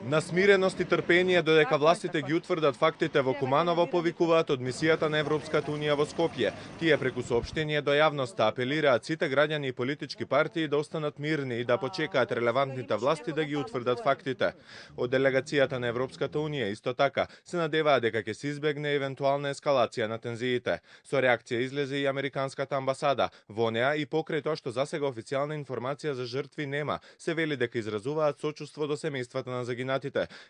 На смиреност и трпение додека властите ги утврдат фактите во Куманово, повикуваат од мисијата на Европската унија во Скопје. Тие преку соопштение до јавноста апелираат сите граѓани и политички партии да останат мирни и да почекаат релевантните власти да ги утврдат фактите. Од делегацијата на Европската унија исто така се надеваат дека ќе се избегне евентуална ескалација на тензиите. Со реакција излезе и американската амбасада. Во неа и покрај тоа што засега официјална информација за жртви нема, се вели дека изразуваат сочувство до семејствата на загинатите,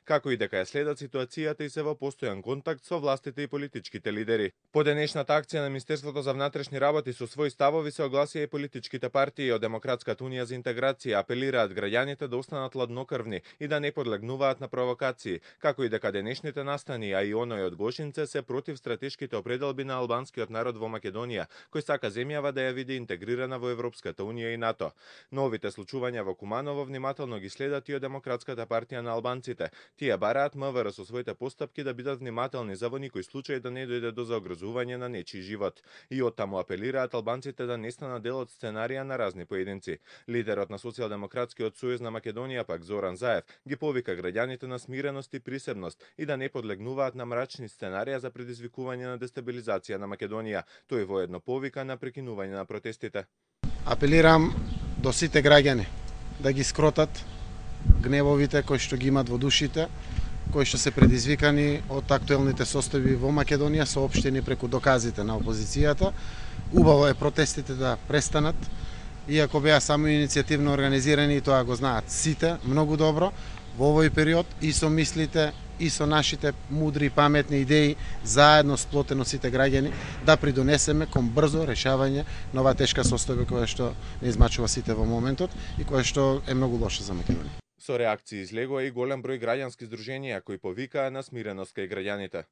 како и дека ја следат ситуацијата и се во постојан контакт со властите и политичките лидери. По денешната акција на Министерството за внатрешни работи со своји ставови се огласија и политичките партии од Демократската унија за интеграција, апелираат граѓаните да останат ладнокрвни и да не подлегнуваат на провокации, како и дека денешните настани, а и оној од Гошинце се против стратешките определби на албанскиот народ во Македонија, кој сака земјава да ја види интегрирана во Европската унија и НАТО. Новите случувања во Куманово внимателно ги следат и од Демократската партија на албанците. Тие бараат МВР со своите постапки да бидат внимателни за во никој случај да не дојде до заогрозување на нечи живот. И оттаму апелираат албанците да не станат дел од сценарија на разни поединци. Лидерот на Социјалдемократскиот сојуз на Македонија пак Зоран Заев ги повика граѓаните на смиреност и присебност и да не подлегнуваат на мрачни сценарија за предизвикување на дестабилизација на Македонија. Тој воедно повика на прекинување на протестите. Апелирам до сите граѓани да ги скротат гневовите кои што ги имат во душите, кои што се предизвикани од актуелните состојби во Македонија, соопштени преку доказите на опозицијата. Убаво е протестите да престанат, иако беа само иницијативно организирани, и тоа го знаат сите многу добро. Во овој период и со мислите и со нашите мудри и паметни идеи, заедно сплотено сите граѓани, да придонесеме кон брзо решавање на оваа тешка состојба која што не измачува сите во моментот и која што е многу лоша за Македонија. Со реакции излегува и голем број граѓански здруженија кои повикаа на смиреност кај граѓаните.